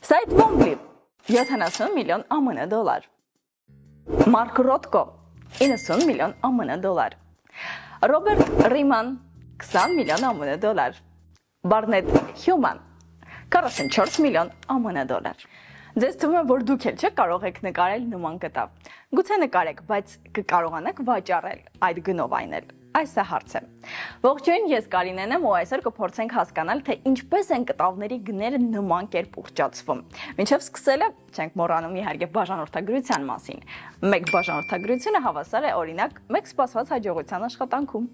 Սայթ Ոմբլի 70 միլիոն ԱՄՆ դոլար, Մարկ Ռոտկո 90 միլիոն ԱՄՆ դոլար, Ռոբերտ Ռիման 20 միլիոն ԱՄՆ դոլար, Բարնետ Հյուման 44 միլիոն ԱՄՆ դոլար։ Ձեզ թվում է, որ դուք էլ չեք կարող եք նկարել նման կտավ։ Գուցե նկարեք, բայց կկարողանաք վաճառել այդ գնով այնել։ Այս է հարցը։ Ողջույն, ես Կարինեն եմ ու այսօր կփորձենք հասկանալ, թե ինչպես են կտավների գները նման կերպ ուռճացվում։ Մինչև սկսելը չենք մոռանում իհարկե բաժանորդագրության մասին։ Մեկ բաժանորդագրությունը հավասար է օրինակ մեկ սպասված հաջողության աշխատանքում։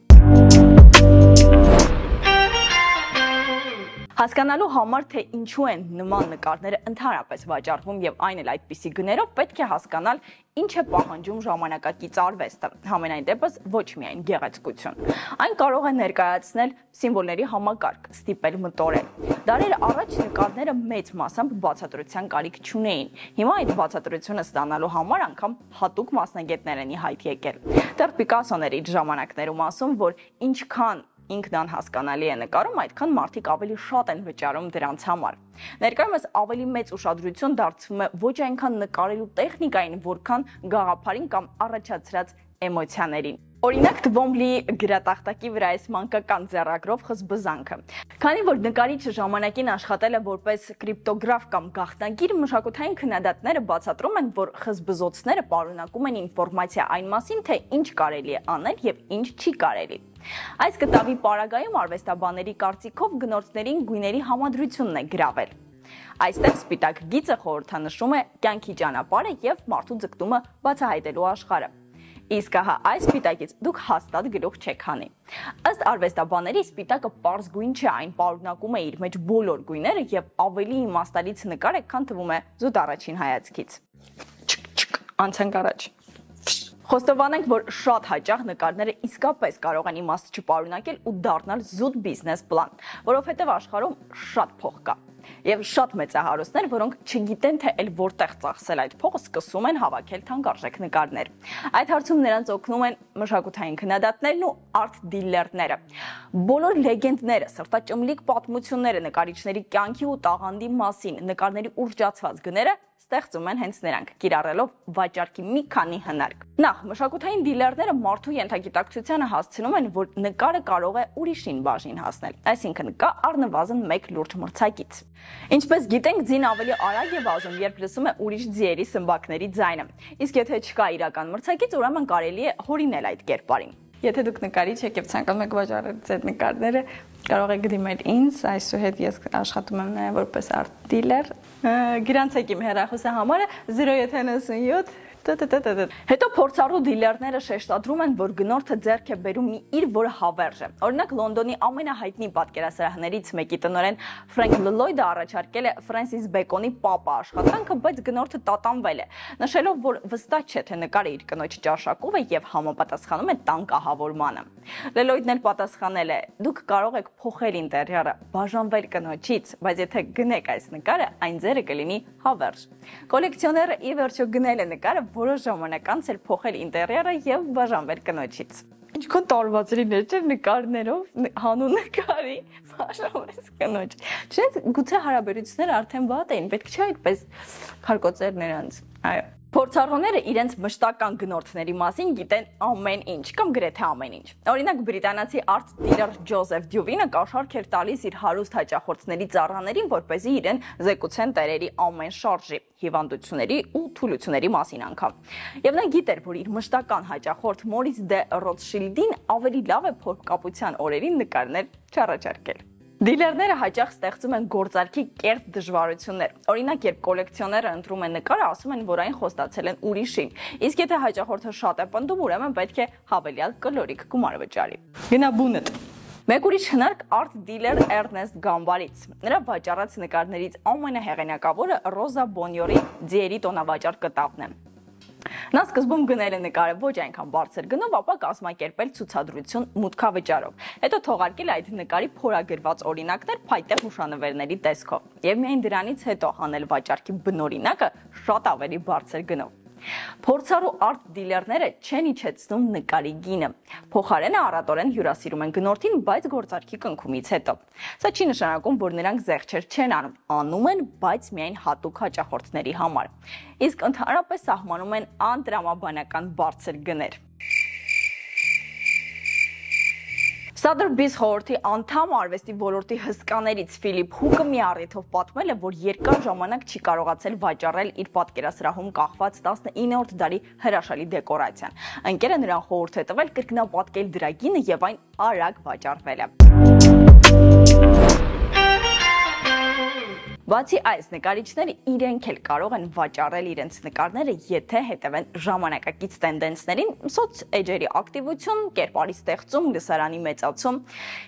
Հասկանալու համար, թե ինչու են նման նկարները ընդհանրապես վաճառվում եւ այն էլ այդպիսի գներով, պետք է հասկանալ ինչ է պահանջում ժամանակակից արվեստը, համենայն դեպս ոչ միայն գեղեցկություն։ Այն կարող է ներկայացնել սիմվոլների համակարգ, ստիպել մտորել։ Դարեր առաջ նկարները մեծ մասամբ բացատրության կարիք չունեին։ Հիմա այդ բացատրությունը ստանալու համար անգամ հատուկ մասնագետներ են ի հայտ եկել։ Դեռ Պիկասոն էր իր ժամանակներում ասում, որ ինչքան ինքն անհասկանալի է նկարում, այդքան մարդիկ ավելի շատ են վճարում դրանց համար։ Ներկայումս ավելի մեծ ուշադրություն դարձվում է ոչ այնքան նկարելու տեխնիկային, որքան գաղափարին կամ առաջացրած էմոցիաներին։ Օրինակ Թվոմբլի գրատախտակի վրա այս մանկական ձեռագրով խզբզանքը։ Քանի որ նկարիչը ժամանակին աշխատել է որպես կրիպտոգրաֆ կամ գաղտնագիր, մշակութային քննադատները բացատրում են, որ խզբզոցները պարունակում են ինֆորմացիա այն մասին, թե ինչ կարելի է անել եւ ինչ չի կարելի։ Այս կտավի պարագայում արվեստաբանների կարծիքով գնորդներին գույների համադրությունն է գրավել։ Այստեղ սպիտակ գիծը խորհրդանշում է կյանքի ճանապարհը եւ մարդու ձգտումը բացահայտելու աշխարհը։ Իսկ ահա այս սպիտակից դուք հաստատ գլուխ չեք հանի։ Ըստ արվեստաբանների սպիտակը պարզ գույն չէ, այն պարունակում է իր մեջ բոլոր գույները եւ ավելի իմաստալից նկար է, քան թվում է զուտ առաջին հայացքից։ Անցանք առաջ։ Խոստովանենք, որ շատ հաճախ նկարները իսկապես կարող են իմաստ չպարունակել ու դառնալ զուտ բիզնես պլան, որովհետև աշխարհում շատ փող կա։ Եվ շատ մեծահարուստներ, որոնք չգիտեն, թե էլ որտեղ ծախսել այդ փողը, սկսում են հավաքել թանկարժեք նկարներ։ Այդ հարցում նրանց օգնում են մշակութային քննադատներն ու արտ դիլերները։ Բոլոր լեգենդները, սրտաճմլիկ պատմությունները նկարիչների կյանքի ու տաղանդի մասին, նկարների ուռճացված գները ստեղծում են հենց նրանք, կիրառելով վաճառքի մի քանի հնարք։ Նախ, մշակութային դիլերները մարդու ենթագիտակցությանը հասցնում են, որ նկարը կարող է ուրիշին բաժին հասնել, այսինքն կա առնվազն մեկ լուրջ մրցակից։ Ինչպես գիտենք, ձին ավելի արագ է վազում, երբ լսում է ուրիշ ձիերի սմբակների ձայնը, իսկ եթե չկա իրական մրցակից, ուրեմն կարելի է հորինել այդ կերպարին։ Եթե դուք նկարիչ եք եւ ցանկանում եք վաճառել ձեր նկարները, կարող եք դիմել ինձ, այսուհետ ես աշխատում եմ նաեւ որպես արտ դիլեր։ Գրանցեք իմ հեռախոսի համարը 097 Հետո փորձառու դիլերները շեշտադրում են, որ գնորդը ձեռք է բերում մի իր, որը հավերժ է։ Օրինակ Լոնդոնի ամենահայտնի պատկերասրահներից մեկի տնօրեն Ֆրենկ Լլոյդը առաջարկել է Ֆրենսիս Բեկոնի Պապա աշխատանքը, բայց գնորդը տատանվել է, նշելով, որ վստահ չէ, թե նկարը իր կնոջ ճաշակով է եւ համապատասխանում է տան կահավորմանը։ Լլոյդն էլ պատասխանել է. «Դուք կարող եք փոխել ինտերիերը, բաժանվել կնոջից, բայց եթե գնեք այս նկարը, այն ձերը կլինի հավերժ»։ Կոլեկցիոները ի վերջո գնել է նկարը, որոշ ժամանակ անց էր փոխել ինտերիերը եւ բաժանվել կնոջից։ Ինչքան տարված լիներ չէ նկարներով հանուն նկարի բաժանվեց կնոջ։ Չէ՞ գուցե հարաբերությունները արդեն վատ էին, պետք չէ այդպես քարկոծեր նրանց։ Այո։ Փորձառուները իրենց մշտական գնորդների մասին գիտեն ամեն ինչ կամ գրեթե ամեն ինչ։ Օրինակ բրիտանացի արտ դիլեր Ջոզեֆ Դյուվինը կաշառք էր տալիս իր հարուստ հաճախորդների ծառաներին, որպեսզի իրեն զեկուցեն տերերի ամեն շարժի, հիվանդությունների ու թուլությունների մասին անգամ։ Եվ նա գիտեր, որ իր մշտական հաճախորդ Մորիս դե Ռոտշիլդին ավելի լավ է փորկապության օրերին նկարներ չառաջարկել։ Դիլերները հաճախ ստեղծում են գործարքի կերտ դժվարություններ։ Օրինակ, երբ կոլեկցիոները ընտրում են նկարը, ասում են, որ այն խոստացել են ուրիշին։ Իսկ եթե հաճախորդը շատ է պնդում, ուրեմն պետք է հավելյալ կլորիկ գումար վճարի։ Գնա բունդ։ Մեկ ուրիշ հնարք արտ դիլեր Էրնեստ Գամբարից։ Նրա վաճառած նկարներից ամենահեղինակավորը Ռոզա Բոնյորի ձիերի տոնավաճառ կտավն է։ Նա սկզբում գնել է նկարը ոչ այնքան բարձր գնով, ապա կազմակերպել ցուցադրություն մուտքավճարով։ Հետո թողարկել այդ նկարի փորագրված օրինակներ փայտե հուշանվերների տեսքով։ Եվ միայն դրանից հետո հանել վաճառքի բնօրինակը շատ ավելի բարձր գնով։ Փորձառու արտ դիլերները չեն իջեցնում նկարի գինը։ Փոխարենը առատորեն հյուրասիրում են գնորդին, բայց գործարքի կնքումից հետո։ Սա չի նշանակում, որ նրանք զեղչեր չեն անում են, բայց միայն հատուկ հաճախորդների համար։ Իսկ ընդհանրապես սահմանում են անտրամաբանական բարձր գներ։ Sotheby's խորհրդի անդամ արվեստի ոլորտի հսկաներից Ֆիլիպ Հուկը մի առիթով պատմել է, որ երկար ժամանակ չի կարողացել վաճառել իր պատկերասրահում կախված 19-րդ դարի հրաշալի դեկորացիան։ Ընկերը նրան խորհուրդ է տվել կրկնապատկել դրա գինը եւ այն արագ վաճառվելը։ Բացի այս, նկարիչները իրենք էլ կարող են վաճառել իրենց նկարները, եթե հետևեն ժամանակակից տենդենսներին, սոցեջերի ակտիվություն, կերպարի ստեղծում, լսարանի մեծացում։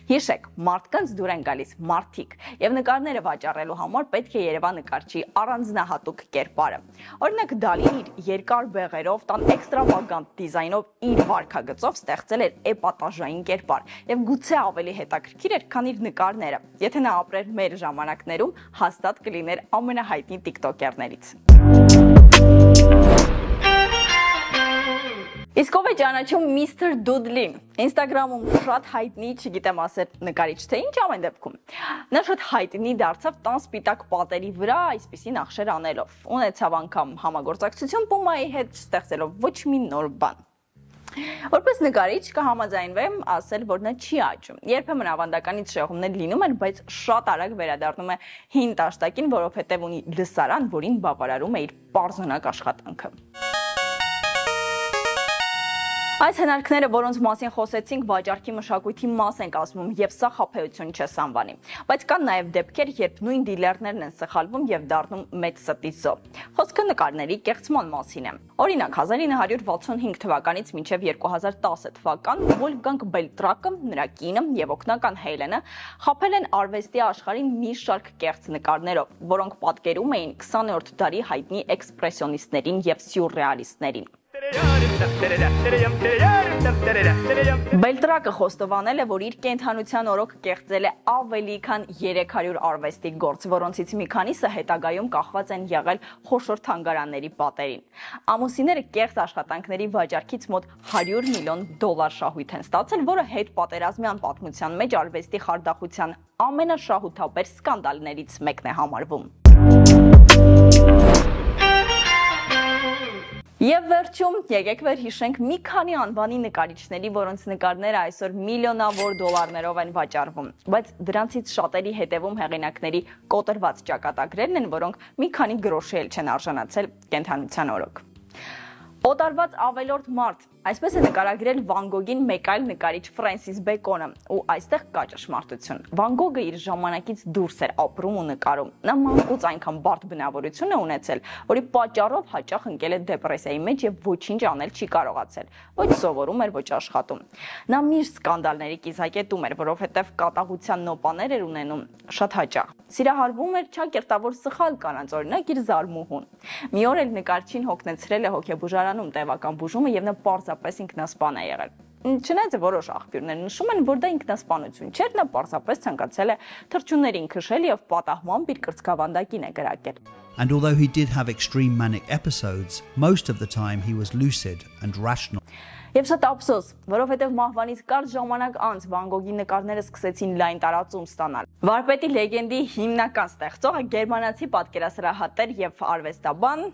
Հիշեք, մարդկանց դուր են գալիս մարդիկ, եւ նկարները վաճառելու համար պետք է երևա նկարչի առանձնահատուկ կերպարը։ Օրինակ Դալին իր երկար բեղերով, տան էքստրավագանտ դիզայնով իր վարքագծով ստեղծել էր էպատաժային կերպար, եւ գուցե ավելի հետաքրքիր էր, քան իր նկարները։ Եթե նա ապրեր մեր ժամանակներում, հաստատ կլիներ ամենահայտնի տիկտոկերներից։ Իսկ ով է ճանաչում Mr. Doodlin։ Instagram-ում շատ հայտնի, չգիտեմ ասել նկարիչ թե ինչ, ամեն դեպքում։ Նա շատ հայտնի դարձավ տան սպիտակ պատերի վրա այսպիսի նախշեր անելով։ Ունեցավ անգամ համագործակցություն Puma-ի հետ, ստեղծելով ոչ մի նոր բան։ Որպես նկարիչ կհամաձայնվեմ ասել, որ նա չի աճում։ Երբեմն ավանդականից շեղումներ լինում են, բայց շատ արագ վերադառնում է հին տաշտակին, որովհետև ունի լսարան, որին բավարարում է իր պարզունակ աշխատանքը։ Այս հնարքները, որոնց մասին խոսեցինք, վաճառքի մշակույթի մաս են կազմում, եւ սա խաբեություն չէ Սամվանի։ Բայց կան նաեւ դեպքեր, երբ նույն դիլերներն են սխալվում եւ դառնում մեծ ստի զո։ Խոսքը նկարների կեղծման մասին է։ Օրինակ 1965 թվականից մինչև 2010 թվական Վոլֆգանգ Բելտրակը, նրա կինը եւ օգնական Հելենը խաբել են արվեստի աշխարհին մի շարք կեղծ նկարներով, որոնք պատկերում էին 20-րդ դարի հայտնի էքսպրեսիոնիստներին եւ սյուրռեալիստներին։ Բելտրակը խոստովանել է, որ իր կենդանության օրոք կեղծել է ավելի քան 300 արվեստի գործ, որոնցից մի քանիսը հետագայում կախված են եղել խոշոր թանգարանների պատերին։ Ամուսինները կեղծ աշխատանքների վաճառքից մոտ $100 միլիոն շահույթ են ստացել, որը հետպատերազմյան պատմության մեջ արվեստի խարդախության ամենաշահութաբեր սկանդալներից մեկն է համարվում։ Եվ վերջում եկեք վերհիշենք մի քանի անվանի նկարիչների, որոնց նկարները այսօր միլիոնավոր դոլարներով են վաճառվում, բայց դրանցից շատերի հետևում հեղինակների կոտրված ճակատագրերն են, որոնք մի քանի գրոշի էլ չեն արժանացել կենդանության օրոք։ Օտարված ավելորդ մարդ, այսպես է նկարագրել Վան Գոգին մեկ այլ նկարիչ Ֆրենսիս Բեկոնը, ու այստեղ կա ճշմարտություն։ Վան Գոգը իր ժամանակից դուրս էր ապրում ու նկարում։ Նա մանկուց այնքան բարդ բնավորություն է ունեցել, որի պատճառով հաճախ ընկել է դեպրեսիայի մեջ եւ ոչինչ անել չի կարողացել։ Ոչ սովորում էր, ոչ աշխատում։ Նա միշտ սկանդալների կիզակետում էր, որովհետեւ կատաղության նոպաներ էր ունենում շատ հաճախ։ Սիրահարվում էր չակերտավոր սխալ կանանց, օրինակ իր զարմուհուն։ Մի օր էլ նկարչին հոգնեցրել է հոգեբուժարանում տևական բուժումը եւ նա պարզապես ինքնասպան է եղել։ Չնայած որոշ աղբյուրներ նշում են, որ դա ինքնասպանություն չէր, նա պարզապես ցանկացել է թռչուններին քշել եւ պատահմամբ իր կրծքավանդակին է կրակել։ And although he did have extreme manic episodes, most of the time he was lucid and rational. Եվ շատ ափսոս, որովհետև մահվանից կարճ ժամանակ անց Վան Գոգի նկարները սկսեցին լայն տարածում ստանալ։ Վարպետի լեգենդի հիմնական ստեղծողը գերմանացի պատկերասրահատեր եւ արվեստաբան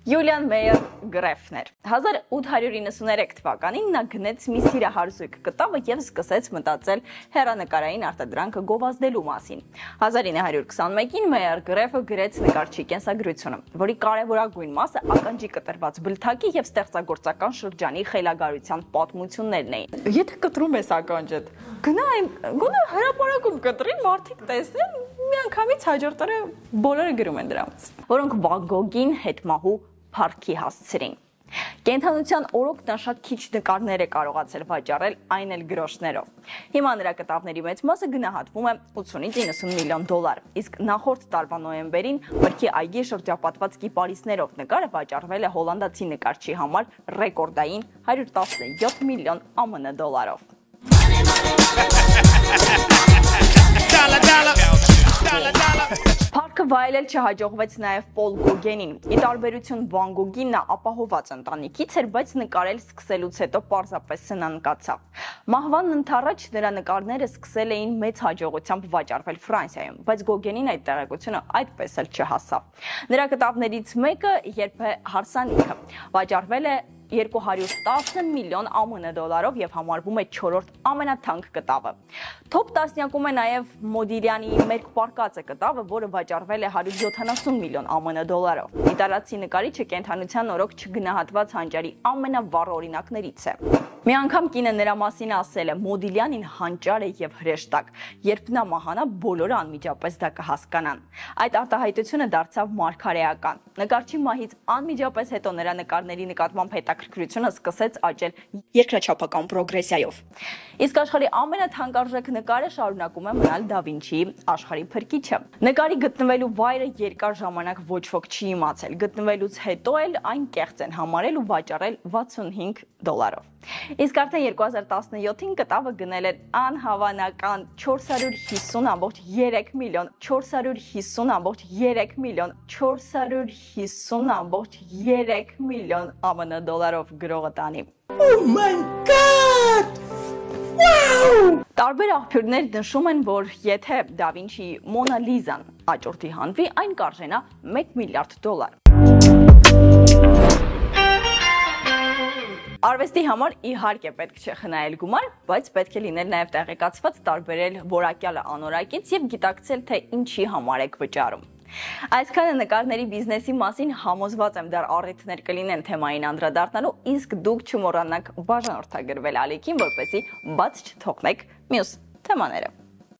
Յուլիան Մեյեր Գրեֆն էր։ 1893 թվականին նա գնեց մի սիրահարզույգ կտավը եւ սկսեց մտածել հեռանկարային արտադրանքը գովազդելու մասին։ 1921-ին Մեյեր Գրեֆը գրեց նկարչի կենսագրությունը, որի կարևորագույն մասը ականջի կտրված բլթակի եւ ստեղծագործական շրջանի խելագարության պատմություններն էին։ Եթե կտրում ես ականջդ, գոնե հրապարակում կտրի, մարդիկ տեսնեն, միանգամից հաջորդ օրը բոլորը գրում են դրանց, որոնք Վան Գոգին հետմահու փառքի հասցրին։ Կենդանության օրոք նա շատ քիչ նկարներ է կարողացել վաճառել, այն էլ գրոշներով։ Հիմա նրա կտավների մեծ մասը գնահատվում է 80-90 միլիոն դոլար, իսկ նախորդ տարվա նոյեմբերին Մրգի այգի շրջապատված կիպարիսներով նկարը վաճառվել է հոլանդացի նկարչի համար ռեկորդային 117 միլիոն ԱՄՆ դոլարով։ Փառքը վայելել չհաջողվեց նաև Պոլ Գոգենին։ Ի տարբերություն Վան Գոգի նա ապահոված ընտանիքից էր, բայց նկարել սկսելուց հետո պարզապես սնանկացավ։ Մահվանն ընդառաջ նրա նկարները սկսել էին մեծ հաջողությամբ վաճառվել Ֆրանսիայում, բայց Գոգենին այդ տեղեկությունը այդպես էլ չհասավ։ Նրա կտավներից մեկը երբ է հարսանիքը վաճառվել է 210 միլիոն ԱՄՆ դոլարով եւ համարվում է 4-րդ ամենաթանկ կտավը։ Թոփ 10-յակում է նաեւ Մոդիլյանի Մերկ պարկածը կտավը, որը վաճառվել է 170 միլիոն ԱՄՆ դոլարով։ Իտալացի նկարիչը կենթանության օրոք չգնահատված հանճարի ամենավառ օրինակներից է։ Մի անգամ կինը նրա մասին ասել է. Մոդիլյանին հանճար է եւ հրեշտակ, երբ նա մահանա, բոլորը անմիջապես դա կհասկանան։ Այդ արտահայտությունը դարձավ մարգարեական։ Նկարչի մահից անմիջապես հետո նրա նկարների նկատմամբ հետաքրքրությունը սկսեց աճել երկրաչափական պրոգրեսիայով։ Իսկ աշխարհի ամենաթանկարժեք նկարը շարունակում է մնալ Դա Վինչիի աշխարհի փրկիչը։ Նկարի գտնվելու վայրը երկար ժամանակ ոչ ոք չի իմացել։ Գտնվելուց հետո էլ այն կեղծ են համարել ու վաճառել $65-ով։ Իսկ արդեն 2017-ին կտավը գնել էր անհավանական 450.3 միլիոն, 450.3 միլիոն, 450.3 միլիոն ԱՄՆ դոլարով գրողը տանի։ Oh my God! Wow! Տարբեր աղբյուրներ նշում են, որ եթե Դա Վինչիի Մոնա Լիզան աճուրդի հանվի, այն կարժենա $1 միլիարդ։ Արվեստի համար իհարկե պետք չէ խնայել գումար, բայց պետք է լինել նաև տեղեկացված, տարբերել որակյալը անորակից եւ գիտակցել, թե ինչի համար եք վճարում։ Այսքանը նկարների բիզնեսի մասին համոզված եմ դեռ առիթներ կլինեն թեմային անդրադառնալու, իսկ դուք չմոռանաք բաժանորդագրվել ալիքին, որպեսզի բաց չթողնեք մյուս թեմաները։